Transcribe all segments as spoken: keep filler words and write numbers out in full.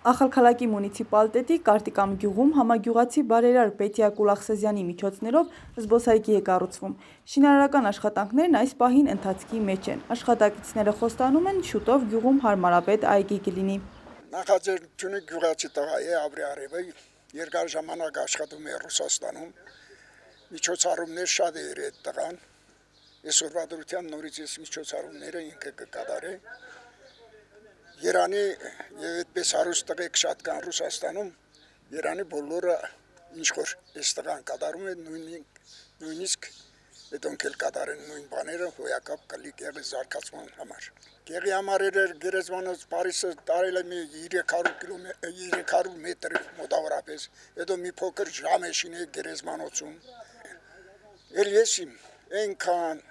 Ախալքալակի մունիցիպալիտետի Կարտիկամ գյուղում համագյուղացի բարերար Պետիա Կուլախսեզյանի միջոցներով զբոսայգի է կառուցվում։ Շինարարական աշխատանքներն այս պահին ընթացքի մեջ են։ Աշխատակիցները խոստանում են շուտով գյուղում հարմարավետ այգի կլինի։ Նախաձեռնությունը գյուղացի տղա է Ավրի Արևը, երկար ժամանակ աշխատում է Ռուսաստանում։ Միջոցառումներ շատ է իր այդ տղան։ Այսօրվա դրության նորից այս միջոցառումները ինքը կկատարի։ Երանի եւ այդպես հարուստ տղեկ շատ կան Ռուսաստանում, Երանի բոլորը ինչ որ այս տղան կատարում է նույնիսկ դոնք էլ կատարեն նույն բաները հոյակապ կլի գեղի զարգացման համար։ Գեղի համար էր գերեզմանոց Փարիսը տարել է մի երեք հարյուր կիլոմետր երեք հարյուր մետր մոտավորապես, հետո մի փոքր ժամ է շինել գերեզմանոցում։ Էլ ես իմ այնքան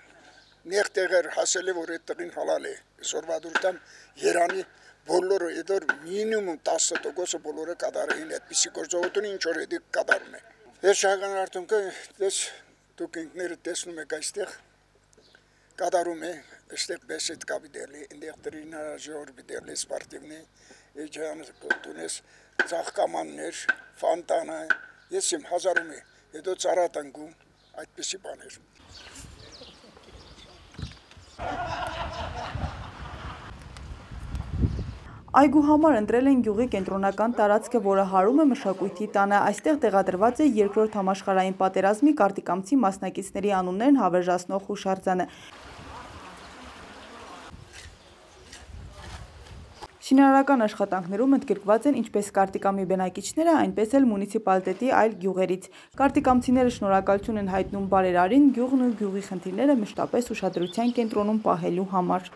նեղտեղեր հասել է որ այդ տղին հալալ է։ Այսօրվա դուրտամ Երանի բոլորը իդոր մինիմում տասը տոկոսը բոլորը կատարային այդպիսի գործողություն ինչ որ էդի կատարում է։ Վերջական արդյունքը դες դուք ինքներդ տեսնում եք այստեղ կատարում է, այստեղ բեսեդ կա բիդելի, այնտեղ տրենաժեր բիդելի սպորտիվնի, էջան կոտունես ծաղկամաններ, ֆոնտանա, ես իմ հազարում է, հետո ծառատանգում այդպիսի բաներ։ Այգու համար ընտրել են գյուղի կենտրոնական տարածքը, որը հարում է մշակույթի տանը։ Այստեղ տեղադրված է երկրորդ համաշխարհային պատերազմի կարտիկամցի մասնակիցների անուններն հավերժացնող հուշարձանը։ Շինարարական աշխատանքներում ընդգրկված են ինչպես Կարտիկամի բնակիչները, այնպես էլ մունիցիպալիտետի այլ գյուղերից։ Կարտիկամցիները շնորհակալություն են հայտնում բարերարին գյուղն ու գյուղի խնդիրները մշտապես ուշադրության կենտրոնում պահելու համար։